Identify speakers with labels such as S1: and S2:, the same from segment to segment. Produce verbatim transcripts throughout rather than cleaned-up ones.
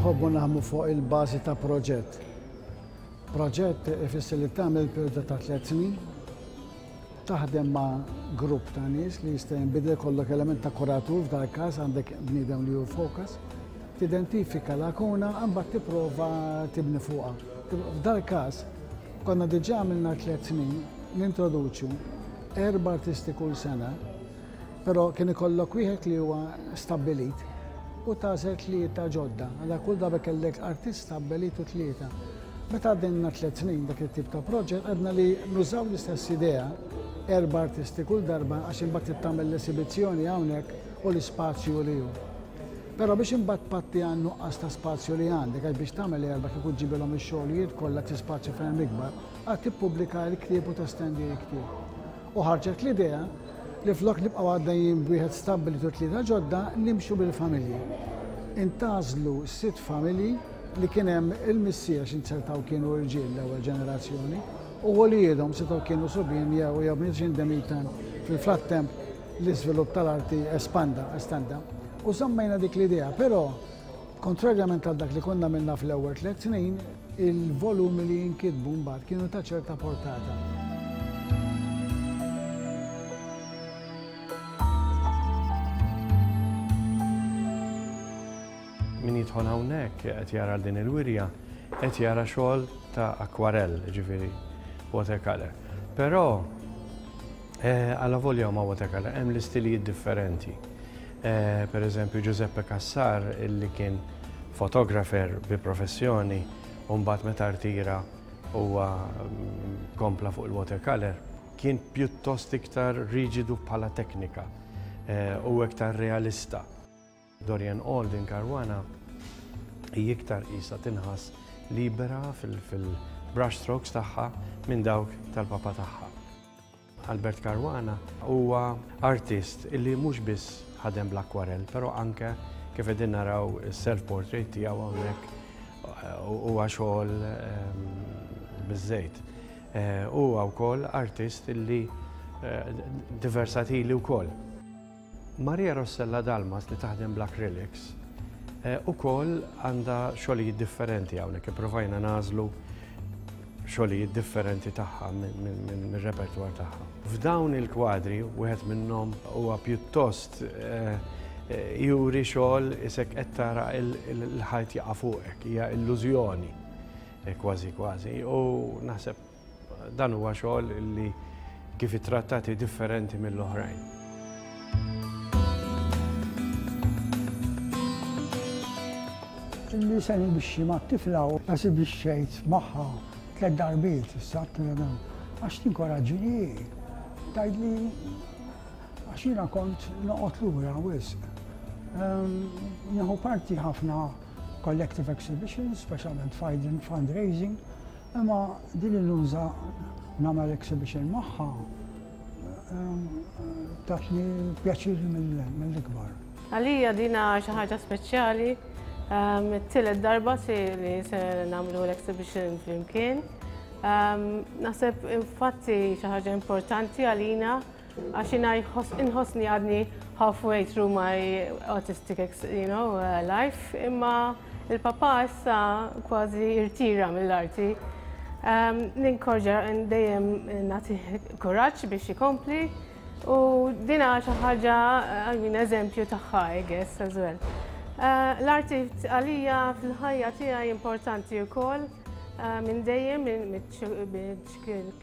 S1: Nħobbu naħdmu fuq il-bażi ta' proġett. Proġett ifisser li tagħmel perjodu ta' tliet snin, taħdem ma' grupp ta' nies li jista' jinbidel, ikollok element ta' kuratur, f'dal każ għandek bniedem li hu focus, tidentifika lakuna, mbagħad tipprova tibni fuqha. F'dal każ konna diġà għamilna tliet snin nintroduċu erba' artisti kull sena, però kien ikollok wieħed li huwa stabbilit u tagħżel tlieta ġodda. Għala kull darba kellek artist stabbilit u tlieta. Meta għaddejna tliet snin dak it-tip ta' proġett, għedna li nużaw l-istess idea, erba' artisti kull darba, għax imbagħad tagħmel l-esibizzjoni hawnhekk u l-ispazju li hu. Però biex imbagħad patti għan nuqqas ta' spazju li għandek, għax biex tagħmel erba' kieku ġibilhom ix-xogħlijiet kollha spazju ferm ikbar, għad tippubblika l-ktieb u testendi l-ktieb. U ħarġet l-idea li flok nibqgħu għaddejjin b'wieħed stabbilit u tlieta ġodda, nimxu bil-familji. Intgħażlu sitt familji li kien hemm il-missier, x'inzertaw kienu rġiel l-ewwel ġenerazzjoni, u wliedhom setgħu kienu subien jew jew bniet x'indemitan fil-frattemp l-iżvilupp tal-arti espanda, estenda. U żammejna dik l-idea, però kontrarjament għal dak li konna minna fl-ewwel tliet snin, il-volumi li jinkitbu mbagħad kienu ta' ċerta portata.
S2: Min jidħol hawnhekk qed jara din il-wirja, qed jara xogħol ta' akwarell, ġifieri watercolor. Però eh, alla volja ma' watercolor hemm l-istilijiet differenti. Eh, per eżempju Giuseppe Cassar, illi kien fotografer bi professjoni, u mbagħad meta rtira huwa mm, kompla fuq il-watercolor, kien pjuttost iktar riġidu bħala teknika eh, u iktar realista. Dorian Alden Caruana hi iktar qisha tinħass libera fil-brush strokes tagħha minn dawk tal-papa tagħha. Albert Caruana huwa artist illi mhux biss ħadem bl-akwarell, però anke kif qegħdin naraw is-self-portrait tiegħu hawnhekk huwa xogħol ehm, biż-żejt. Eh, huwa wkoll artist illi eh, diversatili wkoll. Maria Rossella Dalmas li taħdem bl-acrylics eh, ukoll għandha xogħlijiet differenti hawnhekk, ipprovajna nagħżlu xogħlijiet differenti tagħha mir-repertwar tagħha. F'dawn il-kwadri wieħed minnhom huwa pjuttost eh, eh, juri xogħol isek qed tara il-ħajt jaqa' fuqek, hija illużjoni kważi kważi. U naħseb dan huwa xogħol li kif ittrattati differenti mill-oħrajn.
S3: Li se nibixxi ma' tifla u esibixxejt magħha tliet darbiet issa, għax tinkoraġġini, tgħidli għax jiena kont noqgħod lura wisq. Nieħu parti ħafna collective exhibitions, speċjalment fundraising, imma din il-luża nagħmel exhibition magħha tatni pjaċir mill-ikbar.
S4: Għalija dina xi ħaġa speċjali. It-tielet darba li se nagħmlu l-exhibition flimkien. Naħseb infatti xi ħaġa importanti għalina għax jiena inħossni għadni halfway through my artistic you know, life, imma il-papa issa kważi irtira mill-arti. Ninkorġa dejjem nagħti kuraġġ biex ikompli u dina xi ħaġa, I mean, eżempju tagħha, I guess, as well. L-arti għalija fil-ħajja tiegħi importanti wkoll minn dejjem, minn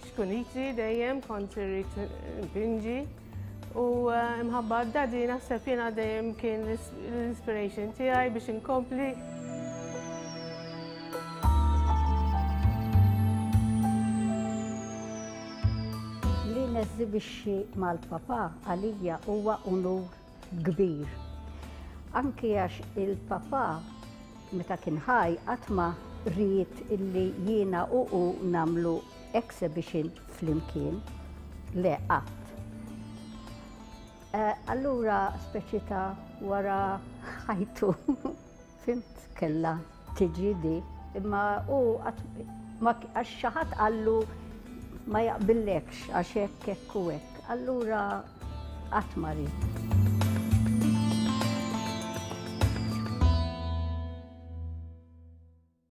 S4: ċkuniti dejjem kont irrid npinġi u imħabba d-daddy naħseb jiena dejjem kien l-inspiration tiegħi biex inkompli.
S5: Li neżibixxi mal-papa għalija huwa unur kbir. Anki għax il-papa meta kien ħaj qatt ma ried illi jiena u hu nagħmlu exhibition flimkien, le qatt. Allura speċi ta' wara ħajtu, fimt, kella tiġi di, imma hu għax xi ħadd qallu ma jaqbillekx għax hekk hekk u hekk. Allura qatt ma ried.